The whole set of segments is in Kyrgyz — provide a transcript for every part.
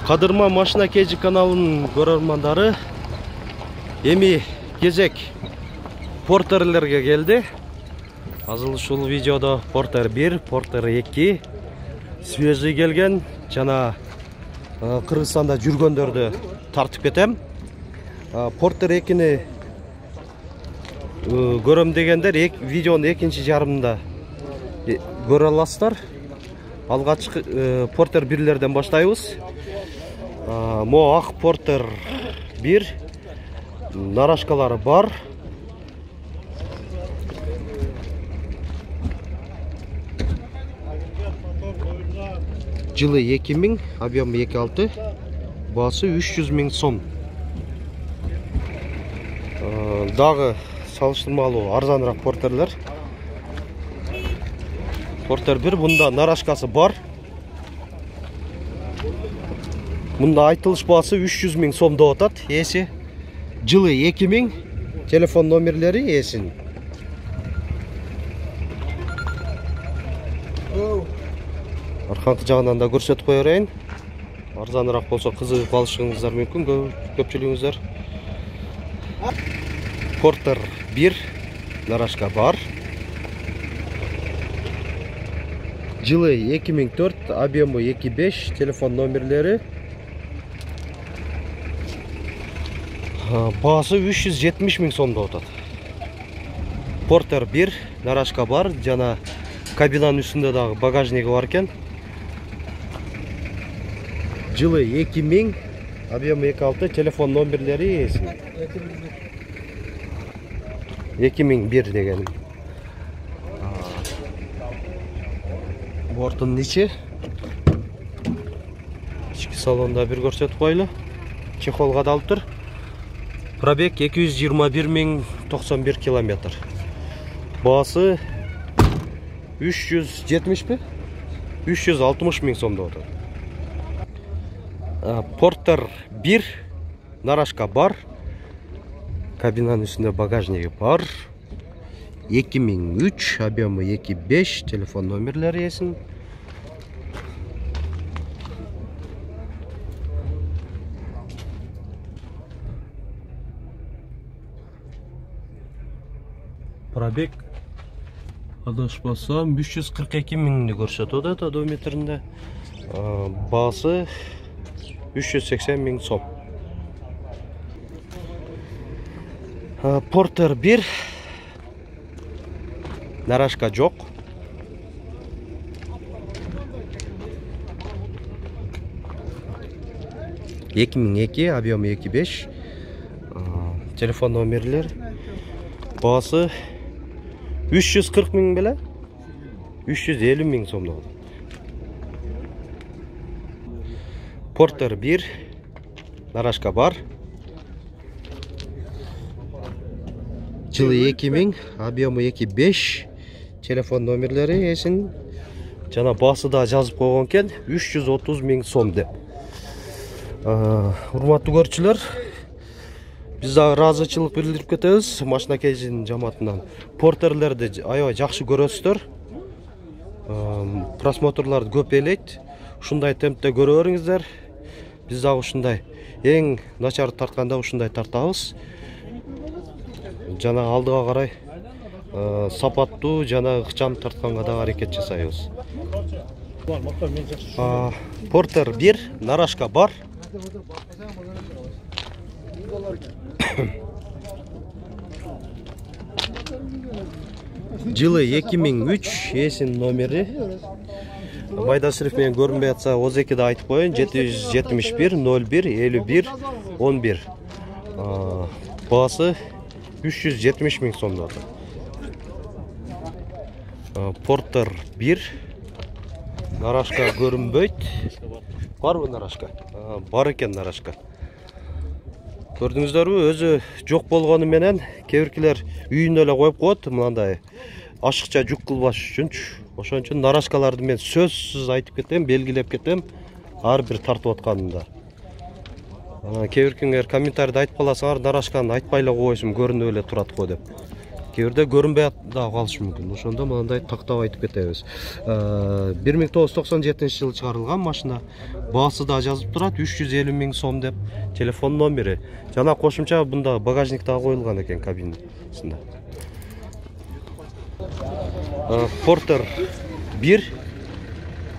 Кадырма машина KG каналынын көрөрмандары, эми кезек портерлерге келди. Азыр ушул видеодо Портер 1, Портер 2 свежий келген жана Кыргызстанда жүргөндөрдү тартып кетем. Портер 2-ни көрөм дегендер видеонун экинчи жарымында көрө аласыздар. Алгачкы Портер 1-лерден баштайбыз. Мо ак Портер 1 нарашкалары бар. Жылы 2000, объемы 2.6, баасы 300 000 сом. Дагы салыштырмалуу арзаныраак Портерлер. Портер 1, бунда нарашкасы бар. Мында айтылыш баасы 300 000 сом деп атат. Эси жылы 2000, телефон номерлери эсин. Арканкы жагынан да көрсөтүп кое берейин. Арзаныраак болсо кызыгып алышыңыздар мүмкүн, көпчүлүгүңүздөр. Портер 1 нарашка бар. Жылы 2004, объемы 2.5, телефон номерлери. Баасы 370 000 сом деп атат. Портер 1 нарашка бар, жана кабинанын үстүндө дагы багажниги бар экен. Жылы 2000, объемы 2.6, телефон номерлери эсин. 2001 деген. Бортунун ичи. Ички салонда бир көрсөтүп койлу. Чехол кадалып тур. Пробег 221 091 километр. Баасы 370 бе? 360 000 сом деп атат. Портер 1 нарашка бар. Кабинанын үстүндө багажниги бар. 2003, объемы 2.5, телефон номерлери эсин. Пробег адашпасам 342 000 көрсөтөт атат одометринде. Баасы 380 000 сом. Портер 1 нарашка жок. (2002), объемы 2.5, телефон номерлер. Баасы 340 000 беле? 350 000 сом деп атат. Портер 1 нарашка бар. Жылы 2000, объемы 2.5, телефон номерлери эсин. Жана баасы да жазып койгон экен, 330 000 сом деп. Урматтуу көрүүчүлөр, биз дагы ыраазычылык билдирип кетебиз машина KG'нин жамаатынан. Портерлерди аябай жакшы көрөсүздөр. Просмотрларды көп элейт. Ушундай темпте көрө бериңиздер. Биз дагы ушундай эң начар тартканда ушундай тартабыз. Жана алдыга карай сапаттуу жана ыкчам тартканга да аракет жасайбыз. Портер 1 нарашка бар. Жылы 2003, эсин номери. Майда шрифт менен көрүнбөй атса, ОЗК'да айтып коеюн. 771 01 51 11. Баасы 370 000 сом деп атат. Портер 1 нарашка көрүнбөйт. Барбы нарашка? Бар экен нарашка. Көрдүңүздөрбү, өзү жок болгону менен кээ биркилер үйүнө эле коюп коет, мындай ашыкча жүк кылбаш үчүнчү. Ошон үчүн нарашкаларды мен сөзсүз айтып кетем, белгилеп кетем, ар бир тартып атканында. Кээ биркиңер комментарийде айтып каласыңар, нарашканы айтпай эле койсун, көрүнүп эле турат го деп. кээ бирде көрүнбөй дагы калышы мүмкүн. Ошондо мындай тактап айтып кетебиз. 1997-жылы чыгарылган машина. Баасы да жазып турат, 350 000 сом деп. Телефон номери. Жана кошумча бунда багажник да коюлган экен кабинасында. Портер 1.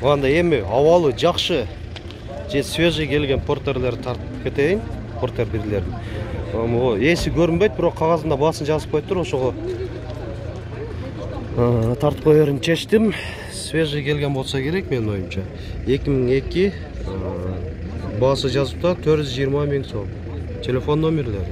Анда эми абалы жакшы же свежий келген портерлер тартып кетейин. Портер 1-лердин. Эси көрүнбөйт, бирок кагазында баасын жазып коюптур, ошого тартып кое берим чечтим. Свежий келген болсо керек менин оюмча. 2002 баасы жазыпта 420 000 сом. Телефон номерлери.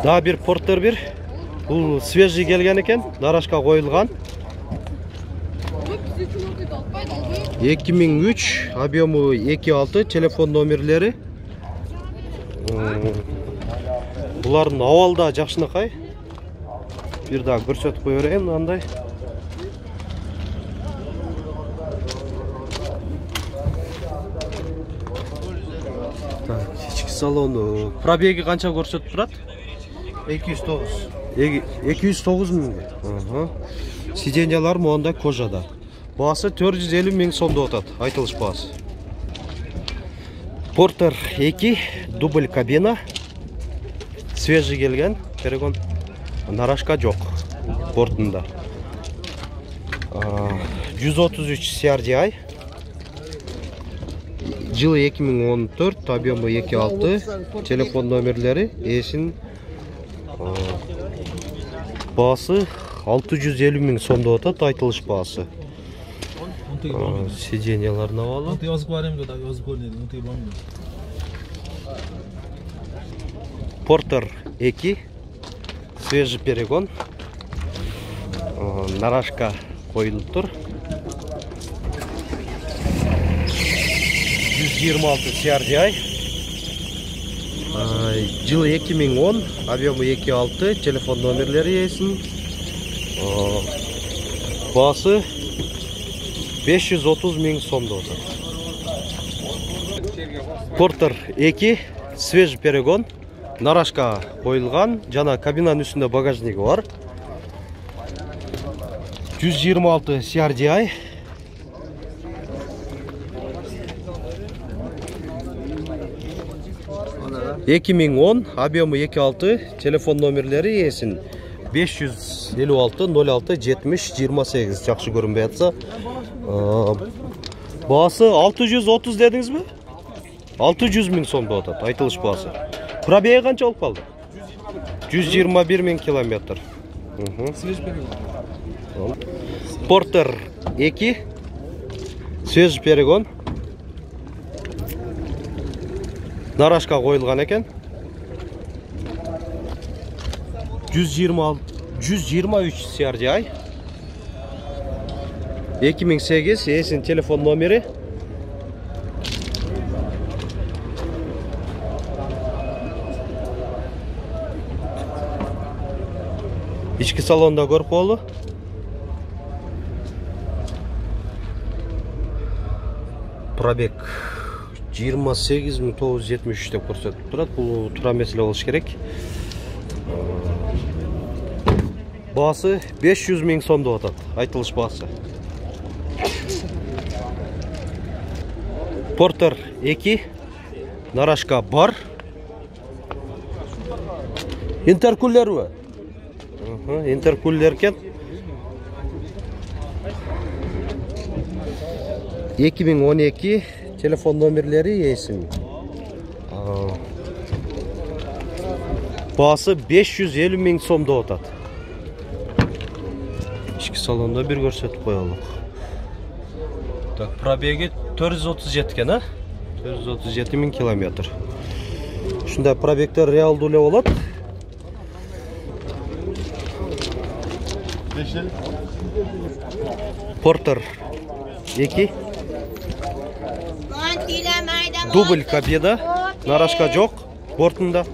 Дагы бир портер 1. Бул свежий келген экен, нарашка коюлган. 2003, объему 2.6, телефон номерлери. Булардын абалы да жакшынакай. Бир дагы көрсөтүп кое берейин андай. Так, ички салону. Пробеги канча көрсөтүп турат? 209. 209 000. Сиденьялар моундай кожада. Баасы 450 000 сом деп атат, айтылыш баасы. Портер 2, дубль кабина. Свежий келген, перегон. Нарашка жок бортунда. 133 CRDI. Жылы 2014, объему 2.6, телефон номерлери, эсин баасы 650 000 сом деп атат, айтылыш баасы. Сиденьяларын абалы. Портер 2, свежий перегон. Нарашка коюлуп тур. 126 CRDI. Жылы 2010, объему 2.6, телефон номерлери эсин. Баасы 530 000 сом деп атат. Портер 2, свежий перегон. Нарашка коюлган, жана кабинанын үстүндө багажниги бар. 126 CRDI. Эки миң 10, объему 2.6, телефон номерлери эсин 556 06 70 28. Жакшы көрүнбөй атса. Баасы 630 дедиңизби? 600 000 сом деп атат, айтылыш баасы. Пробеги канча болуп калды? 121 000 километр. Портер 2, свежий перегон. Нарашка коюлган экен. 123 CRDI. 2008, эсин телефон номери. Ички салонда көрүп коелу. Пробег 28 973 деп көрсөтүп турат. Бул туура меселе болуш керек. Баасы 500 000 сом деп атат, айтылыш баасы. Портер 2, нарашка бар. Интеркулерби? Интеркулер экен. 2012, телефон номерлери эсин. Баасы 550 000 сом деп атат. Ички салонда бир көрсөтүп коелук. Так, пробеги 437 экен, а? 437 000 километр. Ушундай пробегтер реалдуу эле болот. Портер 2, дубль кабина, нарашка жок бортунда.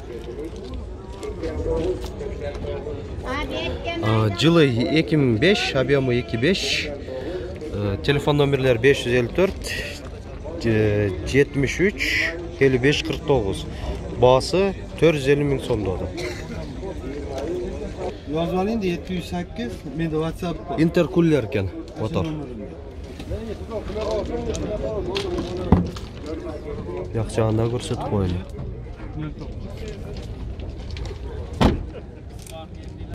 Жылы 2005, объему 2.5, телефон номерлер 554 73 55 49. Баасы 450 000 сом деп атат. Yazıp alayım da 708. Mende WhatsApp var. Интеркулер экен мотор. Як жагында көрсөтүп коелу.